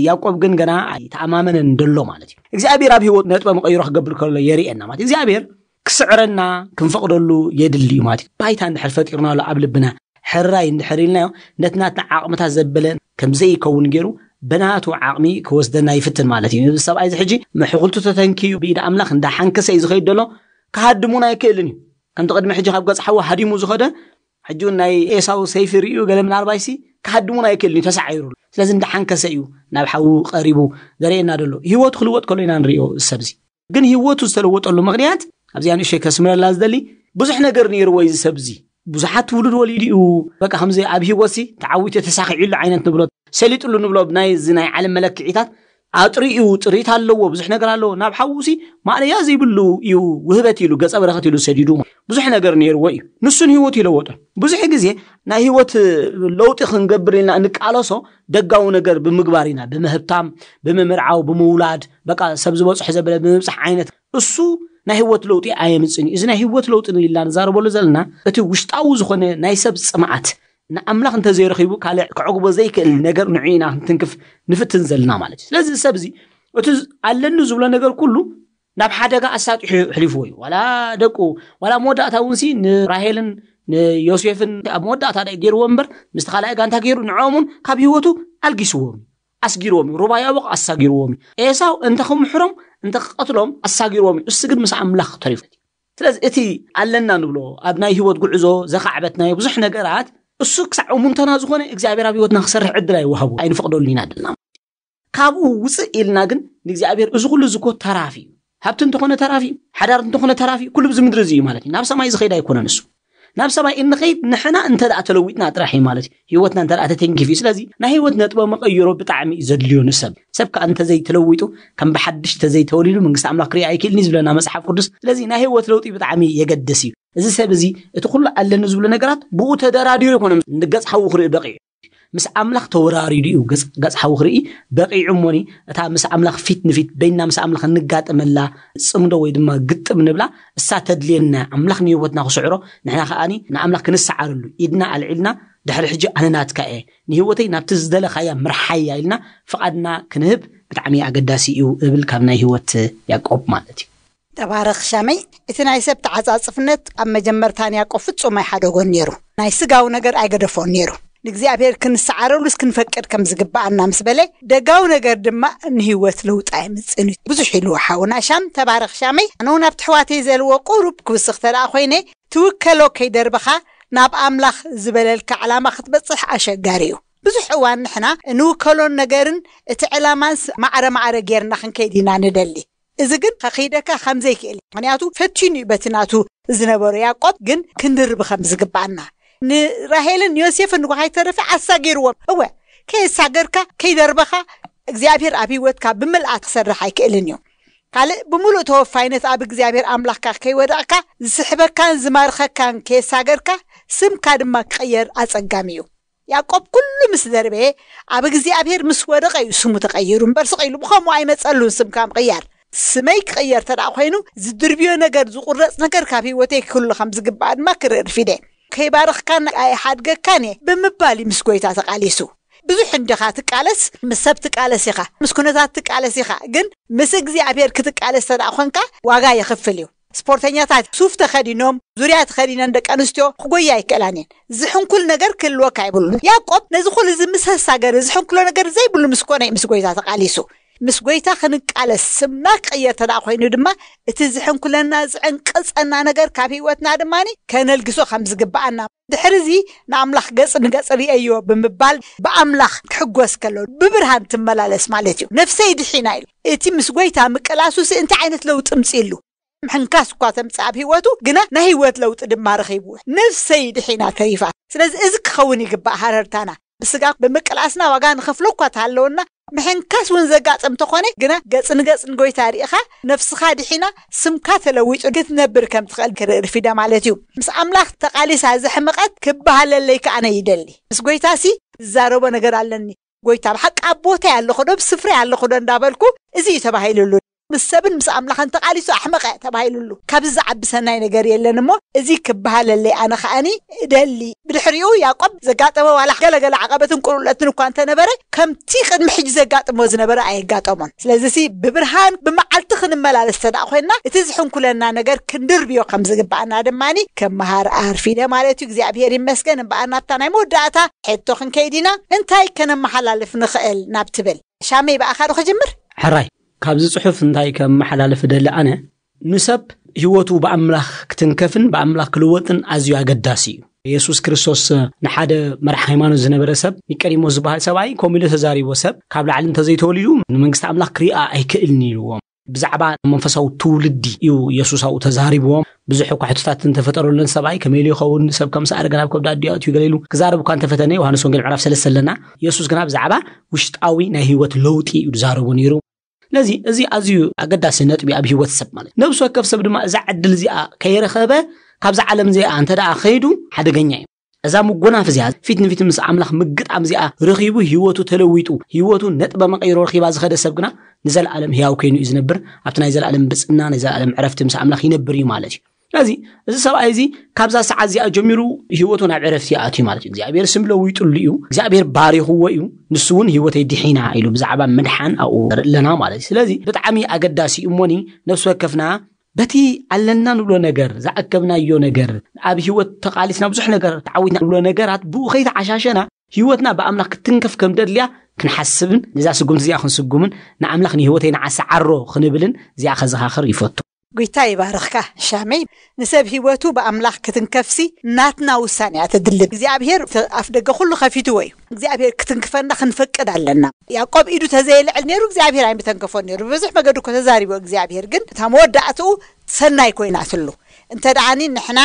ያዕቆብ ግን ገና ኣይተኣማመነን ደሎ ማለት እዩ። እግዚኣብሔር ኣብ ህይወት ነጥበ መቐይሮ ክገብር ከሎ የርእየና ማለት እዩ። እግዚኣብሔር ክስዕረና ክንፈቕደሉ የድሊ እዩ ማለት እዩ። ባይታ እንድሕር ፈጢርናሉ ኣብ ልብና ሕራይ እንድሕር ኢልናዮ ነቲ ናትና ዓቕምታት ዘበለ ከም ዘይከውን ገይሩ ብናቱ ዓቕሚ ክወስደና ይፍትን ማለት እዩ። እዚ ሰብኣይ እዚ ሕጂ ምሕኩልቱ ተተንክዩ ብኢድ ኣምላኽ እንዳሓንከሰ እዩ ዝኸይድ ደሎ። ክሃድሙን ኣይክእልን እዩ። ከምቲ ቅድሚ ሕጂ ካብ ገጽ ሓዊ ሃዲሙ ዝኸደ ሕጂ እውን ናይ ኤሳው ሰይፊ ርእዩ ገለ ምናልባይሲ ክሃድሙን ኣይክእልን እዩ ተሳዒሩሉ። ስለዚ እንዳሓንከሰ እዩ ናብ ሓዊ ቀሪቡ ዘርእየና ደሎ። ህይወቱ ክልወጥ ከሎ ኢና ንርእዮ እዚ ሰብ እዚ። ግን ህይወቱ ዝተለወጠሉ ምኽንያት ኣብዚኣ ንእሸይ ከስምረላ ዝደሊ ብዙሕ ነገር ነይርዎ እዚ ሰብ እዚ። ብዙሓት ትውልድ ወሊዱ እዩ። በቃ ከምዚ ኣብ ህይወትሲ ተዓዊቱ ተሳኺዑሉ ዓይነት ንብሎ ሰሊጡሉ ንብሎ ብናይ እዚ ናይ ዓለም መለክዒታት ኣጥሪኡ ጥሪት ኣለዎ፣ ብዙሕ ነገር ኣለዎ። ናብ ሓውሲ ማእለያ ዘይብሉ እዩ ውህበት ኢሉ ገጸ በረኸት ኢሉ ሰዲዱ ብዙሕ ነገር ነይርዎ እዩ። ንሱን ህይወቱ ይለወጦ። ብዙሕ ግዜ ናይ ህይወት ለውጢ ክንገብር ኢልና እንቃለሶ ደጋዊ ነገር ብምግባር ኢና፣ ብምህብታም፣ ብምምርዓው፣ ብምውላድ፣ በቃ ሰብ ዝበጽሖ ዘበለ ብምብጻሕ ዓይነት እሱ ናይ ህይወት ለውጢ ኣየምጽን እዩ። እዚ ናይ ህይወት ለውጢ ኢልና ንዛረበሉ ዘለና እቲ ውሽጣዊ ዝኾነ ናይ ሰብ ጽምኣት ንኣምላኽ እንተዘይረኺቡ ካልእ ክዕግቦ ዘይክእል ነገር ንዑ ኢና ክንትንክፍ ንፍትን ዘለና ማለት እዩ። ስለዚ እዚ ሰብ እዚ እቲ ኣለኒ ዝብሎ ነገር ኩሉ ናብ ሓደጋ ኣሳጢሑ ኣሕሊፍዎ እዩ። ዋላ ደቁ ዋላ መወዳእታ እውን ሲ ንራሄልን ንዮሴፍን ኣብ መወዳእታ ዳይ ገይርዎ እምበር ምስቲ ካልኣይ ጋንታ ገይሩ ንዕኦም እውን ካብ ህይወቱ ኣልጊስዎም እዩ። ኣስጊርዎም እዩ። ሩባ ያቦቕ ኣሳጊርዎም እዩ። ኤሳው እንተ ክምሕሮም እንተ ክቐትሎም ኣሳጊርዎም እዩ። እሱ ግን ምስ ኣምላኽ ተሪፉ። ስለዚ እቲ ኣለና ንብሎ ኣብ ናይ ህይወት ጉዕዞ ዘኻዕበትናዮ ብዙሕ ነገራት እሱ ክሳዕ እሙንተና ዝኾነ እግዚኣብሔር ኣብ ህይወትና ክሰርሕ ዕድል ኣይወሃቡ ኣይንፈቕደሉ ኢና ድልና። ካብኡ ውፅእ ኢልና ግን ንእግዚኣብሔር እዚ ኩሉ እዚ እኮ ተራፊ እዩ። ሃብቲ እንተኾነ ተራፊ እዩ፣ ሓዳር እንተኾነ ተራፊ እዩ፣ ኩሉ ብዚ ምድሪ እዚ እዩ ማለት እዩ። ናብ ሰማይ ዝኸይድ ኣይኮነን እሱ። ናብ ሰማይ እንኸይድ ንሕና እንተ ደኣ ተለዊጥና ጥራሕ እዩ ማለት እዩ። ህይወትና እንተ ደኣ ተተንኪፍ እዩ። ስለዚ ናይ ህይወት ነጥበ መቐይሮ ብጣዕሚ እዩ ዘድልዮ ንሰብ። ሰብ ከኣ እንተዘይተለዊጡ ከም ብሓድሽ ተዘይተወሊዱ መንግስቲ ኣምላኽ ክርኢ ኣይክእልን እዩ ዝብለና መጽሓፍ ቅዱስ። ስለዚ ናይ ህይወት ለውጢ ብጣዕሚ የገድስ እዩ። እዚ ሰብ እዚ እቲ ኩሉ ኣለኒ ዝብሉ ነገራት ብኡ ተደራዲሩ ይኮነ ንገጽ ሓዉ ክርኢ በቂዑ። ምስ ኣምላኽ ተወራሪዱ እዩ ገጽ ሓዊ ክርኢ በቂዑ። እሞኒ እታ ምስ ኣምላኽ ፊት ንፊት በይና ምስ ኣምላኽ እንጋጠመላ ጽምዶ ወይ ድማ ግጥም ንብላ እሳ ተድልየና፣ ኣምላኽ ንህይወትና ክስዕሮ፣ ንሕና ከኣኒ ንኣምላኽ ክንሰዓረሉ ኢድና ኣልዒልና፣ ድሕሪ ሕጂ ኣነ ናትካ እየ፣ ንህይወተይ ናብቲ ዝደለኻያ ምርሓያ ኢልና ፍቓድና ክንህብ ብጣዕሚ ኣገዳሲ እዩ እብል ካብ ናይ ህይወት ያዕቆብ ማለት እዩ። ተባረኽ ሻመይ። እቲ ናይ ሰብ ተዓጻጽፍነት ኣብ መጀመርታ ንያዕቆብ ፍጹም ኣይሓደጎን ነይሩ። ናይ ስጋዊ ነገር ኣይገደፎን ነይሩ። ንእግዚኣብሔር ክንሰዓረሉስ ክንፈቅድ ከም ዝግብኣና ምስ በለ፣ ደጋዊ ነገር ድማ ንህይወት ለውጢ ኣይምጽእን እዩ። ብዙሕ ኢልዎ ሓውና ሻም። ተባረኽ ሻመይ። ኣነ እውን ኣብቲ ኣሕዋተይ ዘልዎ ቁሩብ ክውስኽ ተደኣ ኮይነ፣ ትውከሎ ከይደርበኻ ናብ ኣምላኽ ዝበለልካ ዕላማ ክትበጽሕ ኣሸጋሪ እዩ። ብዙሕ እዋን ንሕና እንውከሎን ነገርን እቲ ዕላማንስ ማዕረ ማዕረ ጌርና ክንከይድ ኢና ንደሊ። እዚ ግን ከኺደካ ከም ዘይክእል እዩ። ምኽንያቱ ፈቲኑ እዩ በቲ ናቱ ዝነበሮ ያዕቆብ ግን ክንድርቢ ከም ዝግባኣና። ንራሄልን ንዮሴፍን እኳ ከይተረፈ ኣሳጊርዎም። እወ፣ ከየሳገርካ ከይደርበኻ እግዚኣብሔር ኣብ ህይወትካ ብምልኣት ክሰርሕ ኣይክእልን እዩ። ካልእ ብምሉእ ተወፋይነት ኣብ እግዚኣብሔር ኣምላኽካ ከይወደቕካ ዝስሕበካን ዝማርኸካን ከየሳገርካ ስምካ ድማ ክቕየር ኣጸጋሚ እዩ። ያዕቆብ ኩሉ ምስ ደርበየ ኣብ እግዚኣብሔር ምስ ወደቐ እዩ ስሙ ተቐይሩ እምበር ስቕ ኢሉ ብኸምኡ ኣይመጸሉን ስምካ ምቕያር። ስመይ ክቕየር ተደኣ ኮይኑ ዝድርብዮ ነገር ዝቑረጽ ነገር ካብ ህይወተይ ክህሉ ከም ዝግባእ ድማ ክርኢ ርፊደ። ከይባረኽካን ኣይሓድገካን እየ ብምባል እዩ ምስ ጎይታ ተቓሊሱ። ብዙሕ እንዲኻ ትቃለስ፣ ምስ ሰብ ትቃለስ ኢኻ፣ ምስ ኩነታት ትቃለስ ኢኻ፣ ግን ምስ እግዚኣብሔር ክትቃለስ ተደኣ ኾንካ ዋጋ የኽፍል እዩ። ስፖርተኛታት ሱፍ ተኸዲኖም ዙርያ ተኸዲነን ደቂ ኣንስትዮ ክጎያ ኣይክእላን እየን። ዝሕንኩል ነገር ክህልወካ ይብሉ። ያዕቆብ ነዚ ኩሉ እዚ ምስ ኣሳገረ ዝሕንኩሎ ነገር ዘይብሉ ምስ ኮነ እዩ ምስ ጎይታ ተቃሊሱ። ምስ ጎይታ ክንቃለስ ስምና ክቅየር ተደኣ ኮይኑ ድማ እቲ ዝሕንኩለና ዝዕንቅጸና ነገር ካብ ህይወትና ድማ ከነልግሶ ከም ዝግብኣና ድሕሪ እዚ ንኣምላኽ ገጽ ንገጽ ርእየዮ ብምባል ብኣምላኽ ክሕጎስ ከሎ ብብርሃን ትመላለስ ማለት እዩ። ነፍሰይ ድሒና ኢሉ እቲ ምስ ጎይታ ምቅላሱ ሲ እንታይ ዓይነት ለውጢ ምጽእሉ? ምሕንካስ እኳ ተምጽእ ኣብ ህይወቱ ግና ናይ ህይወት ለውጢ ድማ ረኺቡ ነፍሰይ ድሒና ተሪፋ። ስለዚ እዚ ክኸውን ይግባእ ሃረርታና። ብስጋ ብምቅላስና ዋጋ ንኸፍሎ እኳ ተሃለወና ምሕንካስ እውን ዘጋጥም ተኾነ ግና ገጽ ንገጽ ንጎይታ ርኢኻ ነፍስኻ ድሒና ስምካ ተለዊጡ ክትነብር ከም ትኽእል ክርኢ ርፊደ ማለት እዩ። ምስ ኣምላኽ ተቓሊሳ ዘሕመቐት ክበሃለለይ ከኣነ ይደሊ። ምስ ጎይታሲ ዝዛረቦ ነገር ኣለኒ። ጎይታ ብሓቂ ኣብ ቦታይ ኣለኹ ዶ ብስፍሪ ኣለኹ ዶ እንዳበልኩ እዚ እዩ ተባሂሉሉ። ምስ ሰብን ምስ ኣምላኽን ተቓሊሱ ኣሕመቐ ተባሂሉሉ። ካብዚ ዝዓቢ ሰናይ ነገር የለን እሞ እዚ ክበሃለለይ ኣነ ከኣኒ እደሊ። ብድሕሪኡ ያዕቆብ ዘጋጠመ ዋላ ገለገለ ዓቐበትን ቁልቁለትን እኳ እንተነበረ ከምቲ ቅድሚ ሕጂ ዘጋጥሞ ዝነበረ ኣየጋጠሞን። ስለዚሲ ብብርሃን ብመዓልቲ ክንመላለስ ተደኣ ኮይንና እቲ ዝሕንኩለና ነገር ክንድርብዮ ከም ዝግብኣና ድማኒ ከመሃር ኣርፊደ ማለት እዩ። እግዚኣብሔር ይመስገን። እምበኣር ናብታ ናይ መወዳእታ ሕቶ ክንከይድ ኢና። እንታይ ከነመሓላልፍ ንኽእል ናብ ትብል ሻመይ ብኣኻ ዶ ክጅምር? ሕራይ ካብዚ ጽሑፍ እንታይ ከመሓላልፍ እደሊ ኣነ ንሰብ ህይወቱ ብኣምላኽ ክትንከፍን ብኣምላኽ ክልወጥን ኣዝዩ ኣገዳሲ እዩ። የሱስ ክርስቶስ ንሓደ መራሕ ሃይማኖት ዝነበረ ሰብ ኒቀዲሞስ ዝበሃል ሰብኣይ ከምኡ ኢሉ ተዛሪቦ ሰብ ካብ ላዕሊ እንተዘይተወሊዱ ንመንግስቲ ኣምላኽ ክሪኣ ኣይክእልን ኢልዎም። ብዛዕባ መንፈሳዊ ትውልዲ እዩ የሱስ ኣብኡ ተዛሪብዎም። ብዙሕ እኳ ሕቶታት እንተፈጠረሉን ሰብኣይ ከመይ ኢሉ ይኸውን ሰብ ከም ሰኣረ ገና ኣብ ከብዳ ኣዲኡ ኣትዩ ገለ ኢሉ ክዛረብ እኳ እንተፈተነ ዮሃንስ ወንጌል ምዕራፍ ሰለስተ ኣለና። የሱስ ግና ብዛዕባ ውሽጣዊ ናይ ህይወት ለውጢ እዩ ዝዛረቦ ነይሩ። ስለዚ እዚ ኣዝዩ ኣገዳሲ ነጥቢ ኣብ ህይወት ሰብ ማለት ነብሲ ወከፍ ሰብ ድማ እዛ ዕድል እዚኣ ከይረኸበ ካብዛ ዓለም እዚኣ እንተ ደኣ ኸይዱ ሓደገኛ እዩ። እዛ ምጎናፍ እዚኣ ፊት ንፊት ምስ ኣምላኽ ምግጣም እዚኣ ረኺቡ ህይወቱ ተለዊጡ ህይወቱ ነጥበ መቐይሮ ረኺባ ዝኸደ ሰብ ግና ንዘለኣለም ህያው ኮይኑ እዩ ዝነብር። ኣብቲ ናይ ዘለኣለም ብፅና ናይ ዘለኣለም ዕረፍቲ ምስ ኣምላኽ ይነብር እዩ ማለት እዩ። ስለዚ እዚ ሰብኣይ እዚ ካብዛ ሰዓት እዚኣ ጀሚሩ ህይወቱ ናብ ዕረፍቲ ይኣትዩ ማለት እዩ። እግዚኣብሔር ስም ለዊጡሉ እዩ። እግዚኣብሔር ባሪኽዎ እዩ። ንሱ እውን ህይወተይ ድሒና ኢሉ ብዛዕባ ምድሓን ኣብኡ ንርኢ ኣለና ማለት እዩ። ስለዚ ብጣዕሚ ኣገዳሲ እዩ። እሞኒ ነፍሲ ወከፍና በቲ ኣለና ንብሎ ነገር ዝኣከብናዮ ነገር ኣብ ህይወት ተቓሊስና ብዙሕ ነገር ተዓዊትና ንብሎ ነገራት ብኡ ከይተዓሻሸና ህይወትና ብኣምላኽ ክትንከፍ ከም ደድልያ ክንሓስብን ነዛ ስጉምቲ እዚኣ ክንስጉምን ንኣምላኽ ንህይወተይ ንዓሰዓሮ ክንብልን እዚኣ ከዘኻኽር ይፈቱ። ጎይታ ይባርኽካ። ሻመይ፣ ንሰብ ህይወቱ ብኣምላኽ ክትንከፍሲ ናትና ውሳኔ እያ ተድልብ እግዚኣብሔር ኣፍ ደገ ኩሉ ከፊትዎ እዩ። እግዚኣብሔር ክትንክፈና ክንፈቅድ ኣለና። ያዕቆብ ኢዱ ተዘየልዕል ነይሩ እግዚኣብሔር ኣይምተንከፎን ነይሩ። ብብዙሕ መገዲ እኮ ተዛሪቦ እግዚኣብሔር፣ ግን እታ መወዳእትኡ ሰናይ ኮይናትሉ። እንተ ደኣኒ ንሕና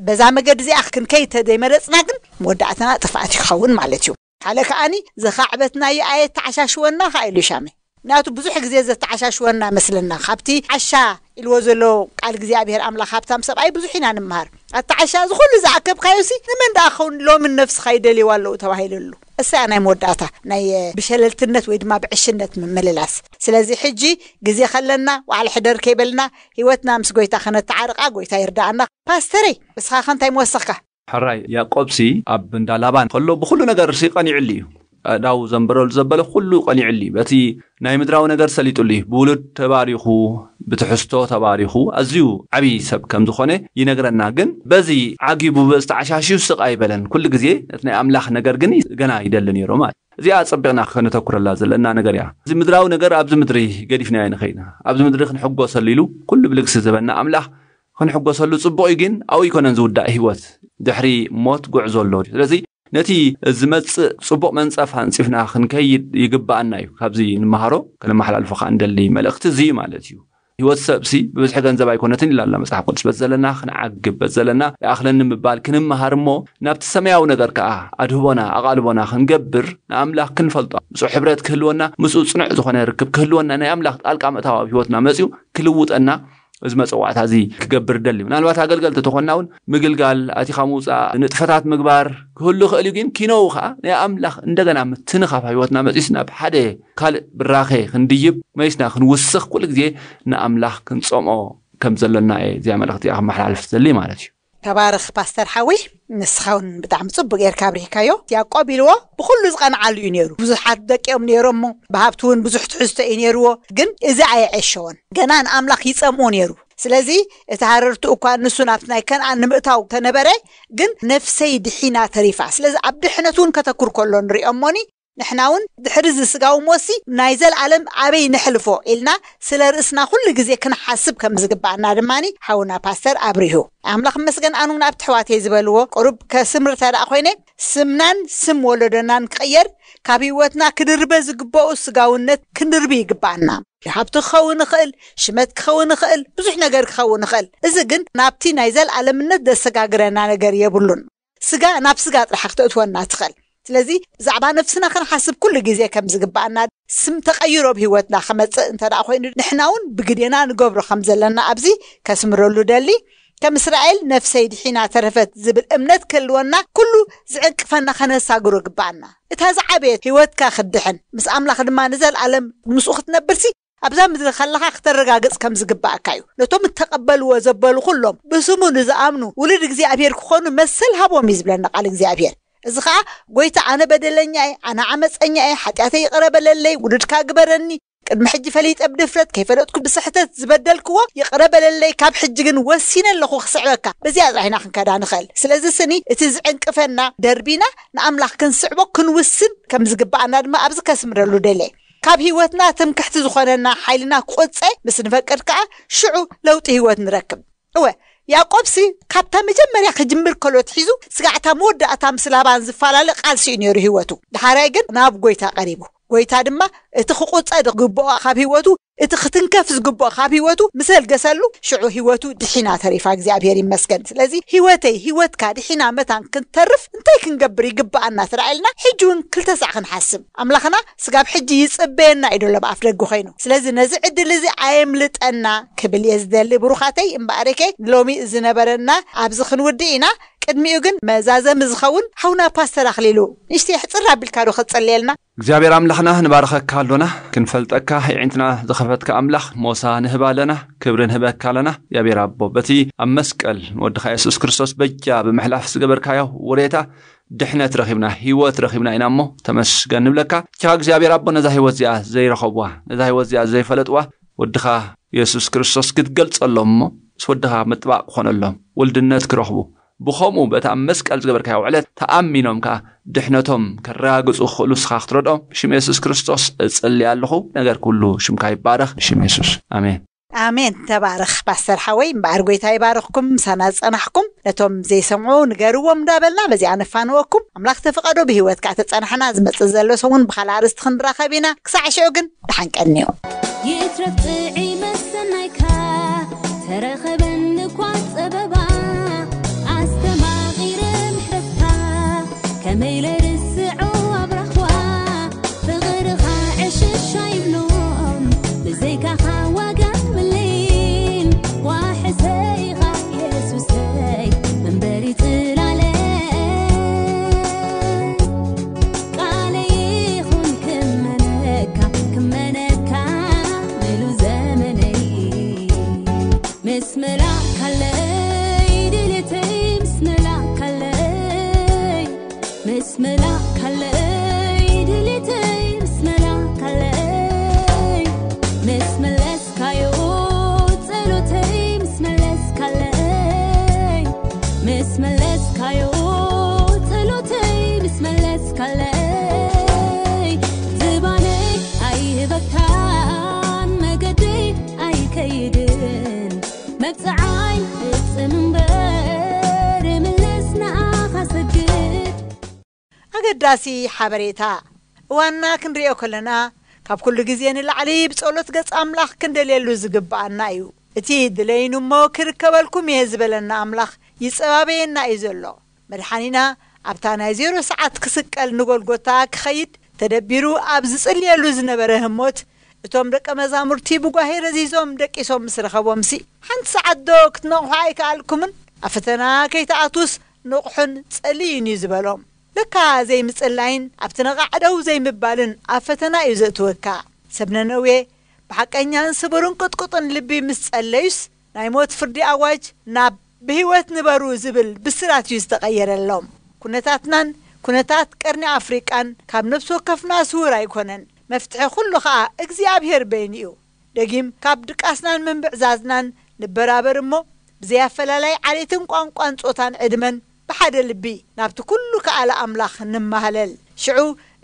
በዛ መገዲ እዚኣ ክንከይድ ተዘይመረፅና ግን መወዳእትና ጥፍኣት ይኸውን ማለት እዩ። ሓደ ከኣኒ ዘኻዕበትናዮ ኣየተዓሻሽወና ከኣ ኢሉ ሻመ። ምክንያቱ ብዙሕ ግዜ ዘተዓሻሽወና መስለና። ካብቲ ዓሻ ኢልዎ ዘሎ ቃል እግዚኣብሔር ኣምላኽ ሃብታም ሰብኣይ ብዙሕ ኢና ንምሃር። ኣተዓሻ እዚ ኩሉ ዝኣከብካዮሲ ንመን ደኣ ክኸውን ሎምን ነፍስኻ ይደልይዋ ኣለዉ ተባሂሉ ኣሎ። እሳ ናይ መወዳእታ ናይ ብሸለልትነት ወይ ድማ ብዕሽነት ምምልላስ። ስለዚ ሕጂ ግዜ ከለና ዋዕለ ሕደር ከይበልና ህይወትና ምስ ጎይታ ከነተዓርቃ ጎይታ ይርዳኣና። ፓስተረይ እስኻ ከ እንታይ ምወሰኽካ? ሕራይ ያዕቆብሲ ኣብ እንዳ ላባን ከሎ ብኹሉ ነገርሲ ቀኒዕሉ እዩ። ኣእዳው ዘንበረሉ ዘበለ ኩሉ ቀኒዕሉ እዩ። በቲ ናይ ምድራዊ ነገር ሰሊጡሉ እዩ። ብውሉድ ተባሪኹ፣ ብትሕዝቶ ተባሪኹ፣ ኣዝዩ ዓብዪ ሰብ ከም ዝኾነ ይነግረና። ግን በዚ ዓጊቡ በዚ ተዓሻሽዩ ስቕ ኣይበለን። ኩሉ ግዜ ነቲ ናይ ኣምላኽ ነገር ግን ገና ይደሊ ነይሩ ማለት። እዚኣ ጸቢቕና ከነተኩረላ ዘለና ነገር እያ። እዚ ምድራዊ ነገር ኣብዚ ምድሪ ገዲፍናዮ ንኸይና፣ ኣብዚ ምድሪ ክንሕጎሰሉ ኢሉ ኩሉ ብልግሲ ዝበና ኣምላኽ ክንሕጎሰሉ ጽቡቕ እዩ፣ ግን ኣብኡ ኣይኮነን ዝውዳእ ህይወት። ድሕሪ ሞት ጉዕዞ ኣሎ። ስለዚ ነቲ ዝመጽእ ጽቡቕ መንጸፍ ኣንጺፍና ክንከይድ ይግብኣና እዩ። ካብዚ ንመሃሮ ከነመሓላልፎ ከኣ እንደሊ መልእኽቲ እዚ እዩ ማለት እዩ። ህይወት ሰብሲ ብብዝሒ ገንዘብ ኣይኮነትን ኢላ ኣላ መጽሓፍ ቅዱስ። በቲ ዘለና ክንዓግብ፣ በቲ ዘለና ይኣኽለኒ ምባል ክንመሃር እሞ ናብቲ ሰማያዊ ነገር ከኣ ኣድህቦና ኣቓልቦና ክንገብር ንኣምላኽ ክንፈልጦ ምስኡ ሕብረት ክህልወና ምስኡ ጽኑዕ ዝኾነ ርክብ ክህልወና ናይ ኣምላኽ ጣልቃ ምእታው ኣብ ህይወትና መጺኡ ክልውጠና እዚ መጸዋዕታ እዚ ክገብር ደሊ። ምናልባት ኣገልገልቲ ተኾንና እውን ምግልጋል፣ ኣቲኻ ምውፃእ፣ ንጥፈታት ምግባር ክህሉ ይኽእል እዩ። ግን ኪነው ከዓ ናይ ኣምላኽ እንደገና ምትንኻፍ ህይወትና መፂስ ናብ ሓደ ካልእ ብራኸ ክንድይብ መይስና ክንውስኽ ኩሉ ግዜ ንኣምላኽ ክንፀምኦ ከም ዘለና እየ እዚኣ መልእኽቲ እያ ክመሓላልፍ ዘሊ ማለት እዩ። ተባረኽ ፓስተር ሓዊ። ንስኻ እውን ብጣዕሚ ፅቡቅ ጌርካ ኣብሪህካዮ። ያዕቆብ ኢልዎ ብኩሉ ዝቐንዓሉ እዩ ነይሩ። ብዙሓት ደቂ እዮም ነይሮሞ፣ ብሃብቲ እውን ብዙሕ ትሕዝቶ እዩ ነይርዎ። ግን እዚ ኣየዐሸዎን። ገና ንኣምላኽ ይጸምኦ ነይሩ። ስለዚ እቲ ሃረርቱ እኳ ንሱ ናብቲ ናይ ከነኣን ንምእታው ተነበረ፣ ግን ነፍሰይ ድሒና ተሪፋ። ስለዚ ኣብ ድሕነት እውን ከተኩር ከሎ ንሪኦ እሞኒ፣ ንሕና እውን ድሕሪ እዚ ስጋዊ ሞሲ ናይ ዘለኣለም ኣበይ ነሕልፎ ኢልና ስለ ርእስና ኩሉ ግዜ ክንሓስብ ከም ዝግባኣና ድማኒ ሓውና ፓስተር ኣብሪሁ። ኣምላኽ መስገን ኣኑን ኣብቲ ኣሕዋተይ ዝበልዎ ቁሩብ ከስምር ተደኣ ኮይነ ስምናን ስም ወለዶናን ክቕየር ካብ ህይወትና ክድርበ ዝግበኦ ስጋውነት ክንድርቢ ይግባኣና። ሃብቲ ክኸውን ይኽእል፣ ሽመት ክኸውን ይኽእል፣ ብዙሕ ነገር ክኸውን ይኽእል። እዚ ግን ናብቲ ናይ ዘለኣለምነት ዘሰጋግረና ነገር የብሉን። ስጋ ናብ ስጋ ጥራሕ ክተእትወና ትኽእል። ስለዚ ብዛዕባ ነፍስና ክንሓስብ ኩሉ ግዜ ከም ዝግባኣና፣ ስም ተቐይሮ ኣብ ህይወትና ክመጽእ እንተ ደኣ ኮይኑ ንሕና እውን ብግዴና ንገብሮ ከም ዘለና ኣብዚ ከስምረሉ ደሊ። ከም እስራኤል ነፍሰይ ድሒና ተረፈት ዝብል እምነት ክህልወና ኩሉ ዝዕንቅፈና ከነሳግሮ ግባኣና። እታ ዝዓበየት ህይወትካ ክትድሕን ምስ ኣምላኽ ድማ ንዘለኣለም ምስኡ ክትነብርሲ ኣብዛ ምድሪ ከለኻ ክተረጋግጽ ከም ዝግባኣካ እዩ። ነቶም እተቐበልዎ ዘበሉ ኩሎም ብስሙ ንዝኣምኑ ውሉድ እግዚኣብሔር ክኾኑ መሰል ሃቦም እዩ ዝብለና ቃል እግዚኣብሔር። እዚ ኸኣ ጎይታ ኣነ በደለኛ እየ፣ ኣነ ዓመፀኛ እየ፣ ሓጢኣተይ ይቕረ በለለይ፣ ውሉድካ ግበረኒ፣ ቅድሚ ሕጂ ፈሊጠ ብድፍረት ከይፈለጥኩ ብስሕተት ዝበደልክዎ ይቕረ በለለይ፣ ካብ ሕጂ ግን ወሲነ ኣለኹ ክስዕበካ። በዚኣ ጥራሕ ኢና ክንከዳ ንኽእል። ስለዚ ስኒ እቲ ዝዕንቅፈና ደርቢና ንኣምላኽ ክንስዕቦ ክንውስን ከም ዝግባኣና ድማ ኣብዚ ከስምረሉ ደልየ። ካብ ህይወትና ትምክሕቲ ዝኾነና ሓይልና ክቑጸ ምስ ንፈቅድ ከኣ ሽዑ ለውጢ ህይወት ንረክብ። እወ ያዕቆብሲ ካብታ መጀመርያ ክጅምር ከሎ ትሒዙ ስጋዕታ መወዳእታ ምስ ላባን ዝፈላለ ቃልሲ እዩ ነይሩ ህይወቱ። ድሓራይ ግን ናብ ጎይታ ቀሪቡ። ጎይታ ድማ እቲ ክቑጸ ዝግብኦ ካብ ህይወቱ፣ እቲ ክትንከፍ ዝግብኦ ካብ ህይወቱ ምስ ኣልገሰሉ ሽዑ ህይወቱ ድሒና ተሪፋ። እግዚኣብሔር ይመስገን። ስለዚ ህይወተይ ህይወትካ ድሒና መታን ክንተርፍ እንታይ ክንገብር ይግብኣና ተራኢልና ሕጂ እውን ክልተ ሳዕ ክንሓስብ። ኣምላኽና ስጋብ ሕጂ ይጽበየና እዩ ደሎ ብኣፍ ደገ ኮይኑ። ስለዚ ነዚ ዕድል እዚ ኣየምልጠና ክብል እየ ዝደሊ። ብሩኻተይ እምበኣርከ ሎሚ ዝነበረና ኣብዚ ክንውድእ ኢና። ቅድሚኡ ግን መዛዘሚ ዝኸውን ሓውና ፓስተር ኣኽሊሉ ንእሽተይ ሕጽር ኣቢልካ ዶ ክትጸልየልና? እግዚኣብሔር ኣምላኽና ንባርኸካ ኣሎና፣ ክንፈልጠካ የዒንትና ዝኸፈትካ ኣምላኽ ሞሳ ንህብ ኣለና፣ ክብሪ ንህበካ ኣለና። እግዚኣብሔር ኣቦ በቲ ኣብ መስቀል ንወድኻ የሱስ ክርስቶስ በጃ ብምሕላፍ ዝገበርካዮ ውሬታ ድሕነት ረኺብና፣ ህይወት ረኺብና ኢና እሞ ተመስገን ንብለካ። ቻ እግዚኣብሔር ኣቦ ነዛ ህይወት እዚኣ ዘይረኸብዋ፣ ነዛ ህይወት እዚኣ ዘይፈለጥዋ ወድኻ የሱስ ክርስቶስ ክትገልጸሎም እሞ ምስ ወድኻ ምጥባቕ ክኾነሎም፣ ውልድነት ክረኽቡ፣ ብኸምኡ በታ ኣብ መስቀል ዝገበርካዮ ውዕለት ተኣሚኖም ከኣ ድሕነቶም ከረጋግጹ ክኽእሉ ንስኻ ክትረድኦም ብሽም የሱስ ክርስቶስ እጽሊ ኣለኹ። ነገር ኩሉ ሽምካ ይባረኽ ብሽም የሱስ። ኣሜን። ኣሜን። ተባረኽ ፓስተር ሓወይ፣ እምበኣር ጎይታ ይባርኽኩም። ምሳና ዝጸናሕኩም ነቶም ዘይሰምዑ ንገርዎም እንዳበልና በዚኣ ነፋንወኩም። ኣምላኽ ተፈቐዶ ብህይወት ከዓ ተጸናሕና ዝመጽእ ዘሎ ሰሙን ብኻልእ ኣርእስቲ ክንራኸብ ኢና። ክሳዕ ሽዑ ግን ደሓን ቀንዩ። ይትረፍ ጥዒ መሰናይካ ተረኸበኒ እኳ ጸበባ ኣስተማቒረ ምሕረትካ ከመይ ለርስዖ ኣብራኽዋ ፍቕርኻ ዕሽሽ ኣይብሎን ብዘይካኻ ዋጋ የብለይን ዋሕሰይኻ የሱሰይ መንበሪ ጽላለይ ቃለይ ይኹን ክመነካ ክመነካ ምሉ ዘመነይ ምስ መላእካለይ ድሌተይ ምስ መላእካለይ ምስ መላእካለይ ድሌተይ ምስ መላእካለይ ምስ መለስካዮ ጸሎተይ ምስ መለስካለይ ምስ መለስካዮ ጸሎተይ ምስ መለስካለይ ዝባነይ ኣይህበካን መገደይ ኣይከይድን መብጽዓይ ፍጽም እምበር ምለስ ንኣኻ ሰግድ ኣገዳሲ ሓበሬታ። እዋንና ክንሪኦ ከለና ካብ ኩሉ ግዜ ንላዕሊ ብጸሎት ገጽ ኣምላኽ ክንደልየሉ ዝግብኣና እዩ። እቲ ድለይኑ እሞ ክርከበልኩም እየ ዝበለና ኣምላኽ ይጸባበየና እዩ ዘሎ። መድሓኒና ኣብታ ናይ ዜሮ ሰዓት ክስቀል ንጎልጎታ ክኸይድ ተደቢሩ ኣብ ዝጽልየሉ ዝነበረ ህሞት እቶም ደቀ መዛሙርቲ ብጓሄ ረዚዞም ደቂሶም ምስ ረኸቦምሲ ሓንቲ ሰዓት ዶ ክትነቕሑ ኣይከኣልኩምን? ኣብ ፈተና ከይትኣትዉስ ንቕሑን ጸልዩን እዩ ዝበሎም። ለካ ዘይምጽላይን ኣብቲ ነቓዕ ደው ዘይምባልን ኣብ ፈተና እዩ ዘእትወካ። ሰብ ነነዌ ብሓቀኛን ስቡርን ቅጥቁጥን ልቢ ምስ ጸለዩስ ናይ ሞት ፍርዲ ኣዋጅ ናብ ብህይወት ንበሩ ዝብል ብስራት እዩ ዝተቐየረሎም። ኩነታትናን ኩነታት ቀርኒ ኣፍሪቃን ካብ ነፍሲ ወከፍና ስውር ኣይኮነን። መፍትሒ ኩሉ ኸኣ እግዚኣብሔር በይኑ እዩ። ደጊም ካብ ድቃስናን ምንብዕዛዝናን ንበራበር እሞ ብዘይ ኣፈላላይ ዓሌትን ቋንቋን ጾታን ዕድመን ብሓደ ልቢ ናብቲ ኩሉ ከኣለ ኣምላኽ ንማህለል። ሽዑ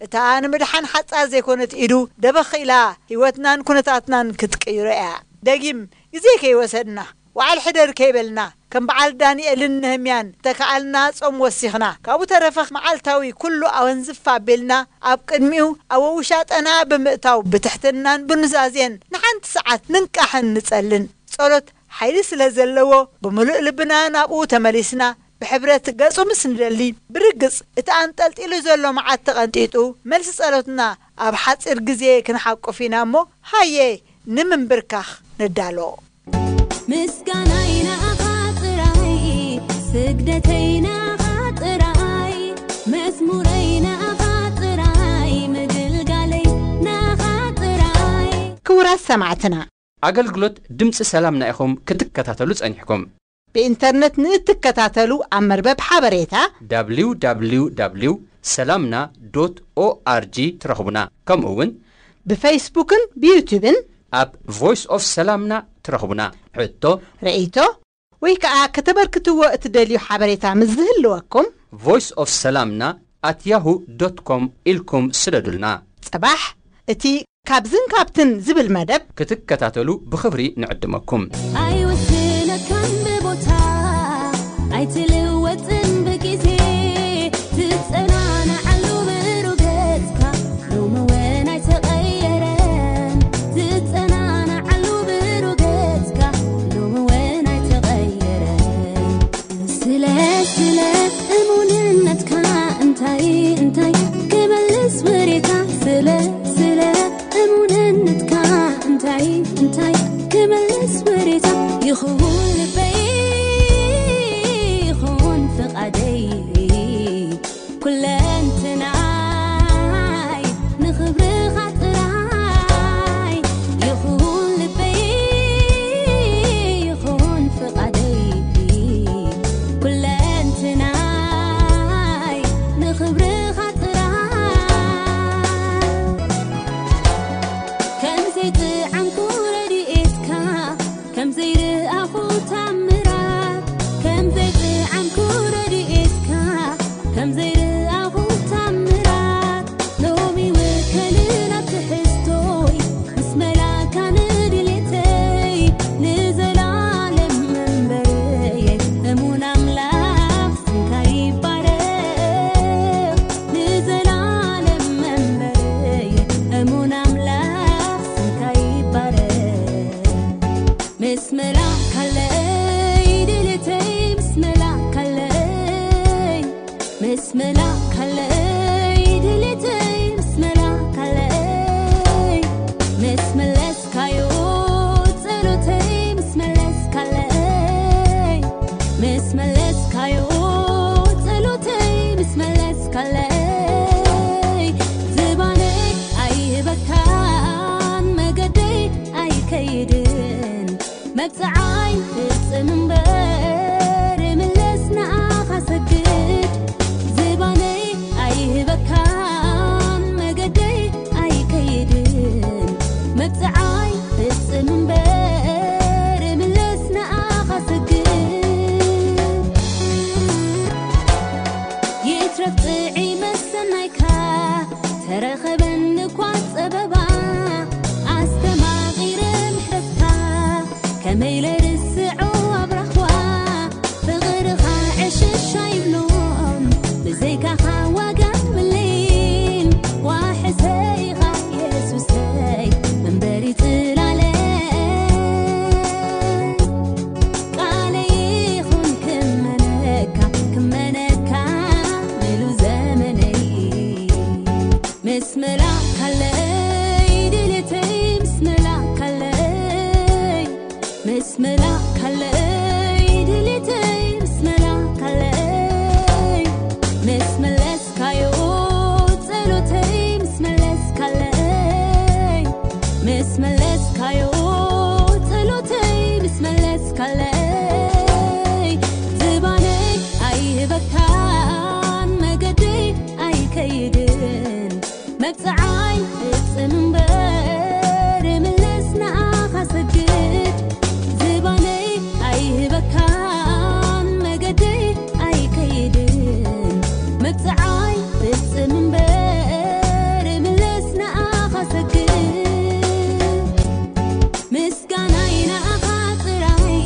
እታ ንምድሓን ሓጻር ዘይኮነት ኢዱ ደበኽ ኢላ ህይወትናን ኩነታትናን ክትቅይሮ እያ። ደጊም ግዜ ከይወሰድና ዋዓል ሕደር ከይበልና ከም በዓል ዳንኤልን ነህምያን ተከኣልና ጾም ወሲኽና ካብኡ ተረፈ መዓልታዊ ኩሉ ኣወንዝፍ ኣቢልና ኣብ ቅድሚኡ ኣብ ውሻጠና ብምእታው ብትሕትናን ብኑዛዜን ንሓንቲ ሰዓት ንንቃሕን ንጸልን። ጸሎት ሓይሊ ስለ ዘለዎ ብምሉእ ልብና ናብኡ ተመሊስና ብሕብረት ገጹ ምስ ንደሊ ብርግጽ እቲ ኣንጠልጢሉ ዘሎ መዓት ተቐንጢጡ መልሲ ጸሎትና ኣብ ሓጺር ግዜ ክንሓቁፍ ኢና እሞ ሃየ ንምንብርካኽ ንዳሎ። ምስጋናይ ንኣኻ ጥራይ ስግደተይ ንኣኻ ጥራይ መዝሙረይ ንኣኻ ጥራይ ምግልጋለይ ንኣኻ ጥራይ። ክቡራት ሰማዕትና፣ ኣገልግሎት ድምፂ ሰላምና ኢኹም ክትከታተሉ ጸኒሕኩም። ብኢንተርነት ንእትከታተሉ ኣብ መርበብ ሓበሬታ www ሰላምና ዶት ኦኣርጂ ትረኽቡና። ከምኡ እውን ብፌስቡክን ብዩቱብን ኣብ ቮይስ ኦፍ ሰላምና ትረኽቡና። ሕቶ፣ ርእይቶ ወይ ከዓ ከተበርክትዎ እትደልዩ ሓበሬታ ምስ ዝህልወኩም ቮይስ ኦፍ ሰላምና ኣት ያሁ ዶት ኮም ኢልኩም ስደዱልና። ጽባሕ እቲ ካብዝን ካብትን ዝብል መደብ ክትከታተሉ ብኽብሪ ንዕድመኩም። ኣይውስነካን ብቦታ ኣይትልወጥን ብግዜ ትጸናናዓሉ ብሩገጽካ ሎሚ እውን ኣይተቐየረን ትጸናናዓሉ ብሩገጽካ ሎሚ እውን ኣይተቐየረን ስለ ስለ እሙንነትካ እንታይ እንታይ ክመልስ ወሬታ ስለ ስለ እሙንነትካ እንታይ እንታይ ክመልስ ወሬታ ይኹን ልበይ ይኹን ፍቓደይ ኩለንትናይ ንኽብርኻ ጥራይ ይኹን ልበይ ይኹን ፍቓደይ ኩለንትናይ ንኽብርኻ ጥራይ ከም ዘይጥዓምኩ ረድኤትካ ከም ዘይረኣኹ መላእካለይ ድሌተይ ምስ መላእካለይ፣ ምስ መለስካዮ ጸሎተይ ምስ መለስካለይ፣ ምስ መለስካዮ ጸሎተይ ምስ መለስካለይ፣ ዝባነይ ኣይህበካን መገደይ ኣይከይድን። መብጽዓይ ፍጽም እምበር ምለስ ንኣኻ ሰግድ። ዝባነይ ኣይህበካን መገደይ ኣይከይድን። መብጽዓይ ፍጽም እምበር ምለስ ንኣኻ ሰግድ። ይትረፍ ጥዒ መሰናይካ ተረኸበኒ እኳ ጸበባ ኣስተማቒረ ምሕረትካ ከመይ ለርስዖ ኣብራኽዋ ፍቕርኻ ዕሽሽ ኣይብሎን ብዘይካኻ ዋጋ የብለይን ዋሕሰይኻ የሱሰይ መንበሪ ጽላለይ ቃለይ ይኹን ክመነካ ክመነካ ምሉ ዘመነይ ምስ መላእካለይ ድሌተይ ምስ መላእካለይ ምስ መላእካለይ ድሌተይ ምስ መላእካለይ ምስ መለስካዮ ጸሎተይ ምስ መለስካለይ ምስ መለስካዮ ጸሎተይ ምስ መለስካለይ ዝባነይ ኣይህበካን መገደይ ኣይከይድን መብጽዓይ ፍጽም እምበር ምለስ ንኣኻ ሰግድ ዝባነይ ኣይህበካን መገደይ ኣይከይድን መብጽዓይ ፍጽም እምበር ምለስ ንኣኻ ሰግድ ምስጋናይ ንኣኻ ጥራይ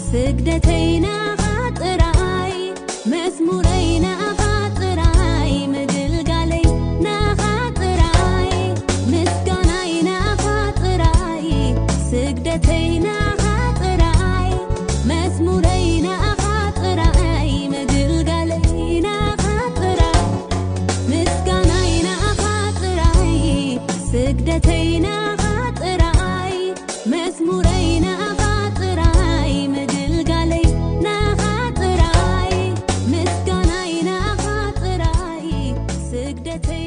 ስግደተይ ንኣኻ ጥራይ መዝሙረይ ንኣኻ ጥራይ ምግልጋለይ ንኣኻ ጥራይ ምስጋናይ ንኣኻ ጥራይ ስግደተይ ንኣኻ ጥራይ መዝሙረይ ንኣኻ ጥራይ ምግልጋለይ ንኣኻ ጥራይ ምስጋናይ ንኣኻ ጥራይ ስግደተይ ንኣኻ ጥራይ መዝሙረይ ንኣኻ ጥራይ ምግልጋለይ ንኣኻ ጥራይ ምስጋናይ ንኣኻ ጥራይ ስግደተይ